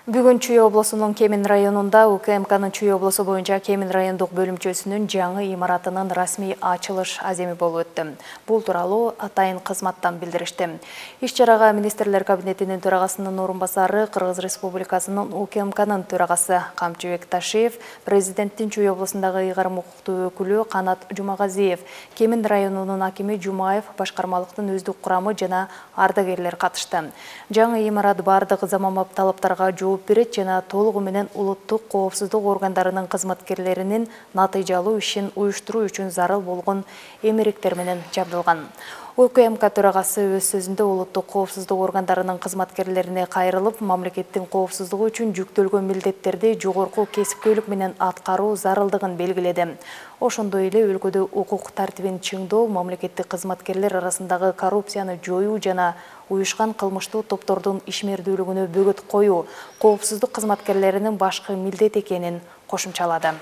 Бүгүн Чүй облусунун Кемин районунда УКМКнын Чүй облусу боюнча Кемин райондук бөлүмчөсүнүн жаңы имаратынын расмий ачылыш аземи болуп өттү. Бул тууралуу атайын кызматтан билдиришти. Иш-чарага министрлер кабинетинин төрагасынын орун басары, Кыргыз Республикасынын УКМКнын төрагасы Камчыбек Ташиев, президенттин Чүй облусундагы ыйгарым укуктуу өкүлү Канат Жумагазиев, Кемин районунун акими Жумаев, башкармалыктын өздүк курамы жана ардагерлер катышты. Жаңы имарат бардык заманбап талаптарга жооп берет жана толугу менен улуттук коопсуздук органдарынын кызматкерлеринин натыйжалуу ишин уюштуруу үчүн зарыл болгон эмеректер менен жабдылган. УКМК төрагасы өз сөзүндө улуттук коопсуздук органдарынын кызматкерлерине кайрылып, мамлекеттин коопсуздугу үчүн жүктөлгөн милдеттерди жогорку кесипкөйлүк менен аткаруу зарылдыгын белгиледи. Ошондой эле өлкөдө укук тартибин чыңдоо, мамлекеттик кызматкерлер арасындагы коррупцияны жоюу жана уюшкан кылмыштуу топтордун ишмердүүлүгүнө бөгөт коюу коопсуздук кызматкерлеринин башкы милдет экенин кошумчалады.